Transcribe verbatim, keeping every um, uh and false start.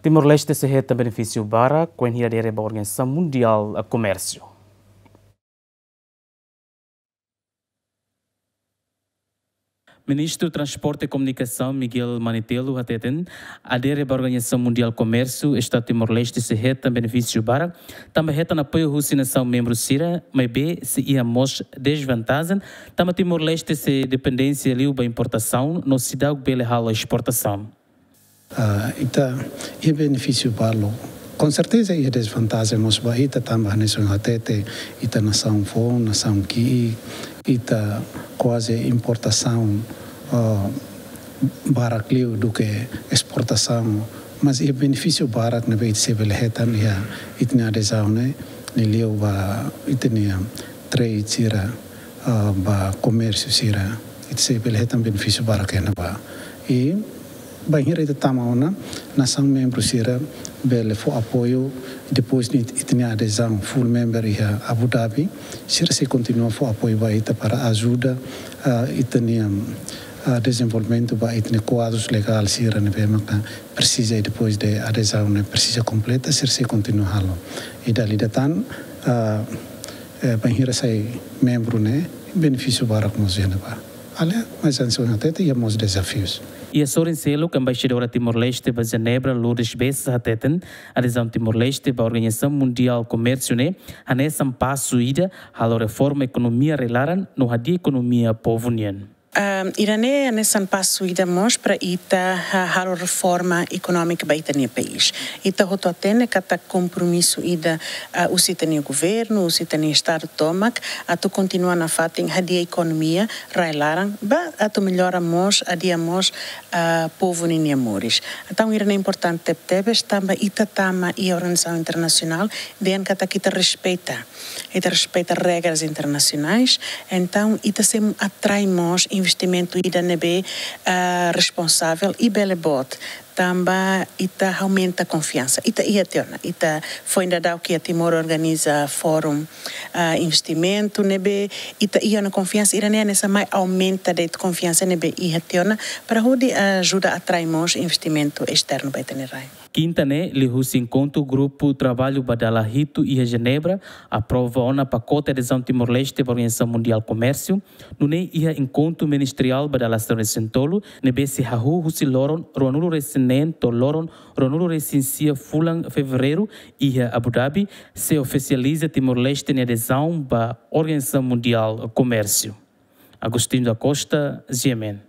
Timor-Leste sei hetan benefísiu barak kuandu adere ba Organizasaun Mundiál Komérsiu. Ministru Transporte e Komunikasaun Miguel Manetelu hateten, adere ba Organizasaun Mundiál Komérsiu, Estadu Timor-Leste sei hetan benefísiu barak, tanba hetan apoiu husi nasaun membru sira, maibé sei iha mós desvantajen, tanba Timor-Leste sei dependénsia liu ba importasaun, no seidauk bele halo esportasaun. Ah, ita iha benefísiu balu. Com certeza iha desvantajen mós ba ita tanba hanesan hatete, ita nasaun foun, nasaun ki'ik, ita kuaze importasaun, ah, barak liu duke esportasaun. Mas iha benefísiu barak ne'ebé ita sei bele hetan iha ita-nia adezaun ne'e, liuliu ba ita-nia trade sira, ah, ba komérsiu sira, ita sei bele hetan benefísiu barak iha ne'ebá. I bainhira ita tama ona, nasaun membru sira bele fó apoiu, depois de ita-nia adezaun full member iha Abu Dhabi, sira sei kontinua fó apoiu ba ita para ajuda, ah, ita-nia, ah, dezenvolvimentu ba ita-nia kuadrus legál sira ne'ebé maka presiza, i depois de adezaun ne'e presiza kompleta, sira sei kontinua halo. I dala ida tan, ah, eh, bainhira sai membru ne'e, benefísiu barak mós iha ne'ebá. Além, mas hanesan hatete, iha mós dezafius. Iha sorin seluk, Embaixadora Timor-Leste ba Jenebra, Lourdes Bessa, hateten, adezaun Timor-Leste ba Organizasaun Mundiál Komérsiu ne'e hanesan pasu ida halo reforma ekonomia rai-laran no hadi'a ekonomia povu nian. Ahm, ida-ne'e hanesan pasu ida mós para ita, ah, halo reforma ekonómika ba ita-nia país. Ita hotu hatene katak kompromisu ida, ah, husi ita-nia governu, husi ita-nia Estadu tomak, atu kontinua nafatin hadi'a ekonomia rai-laran, ba atu mellora mós, hadi'a mós, ah, povu ninia moris. Entaun, ida-ne'e importante tebes, tanba ita tama iha organizasaun internasionál, dehan katak ita respeita. Ita respeita regras internasionais, entaun ita sei atrai mós investimentu ida ne'ebé, ah, responsavel i bele boot, tanba ita aumenta konfiansa. Ita iha tiha ona, ita foin daudauk iha Timor organiza fórum, ah, investimentu ne'ebé ita iha ona konfiansa, ida-ne'e hanesan mai aumenta de'it konfiansa ne'ebé iha tiha ona, para hodi ajuda atrai mós investimentu esternu ba ita-nia rai. Kinta ne'e, liuhusi enkontru grupu traballu ba dala hitu iha Jenebra, aprova ona pakote adezaun Timor-Leste ba Organizasaun Mundiál Komérsiu, nune'e iha enkontru ministeriál ba dala sanulu-resin-tolu, ne'ebé sei hahú husi loron ruanulu-resin-neen to'o loron ruanulu-resin-sia fulan Fevereiru iha Abu Dhabi, sei ofisializa Timor-Leste nia adezaun ba Organizasaun Mundiál Komérsiu. Agostinho da Costa, G M N.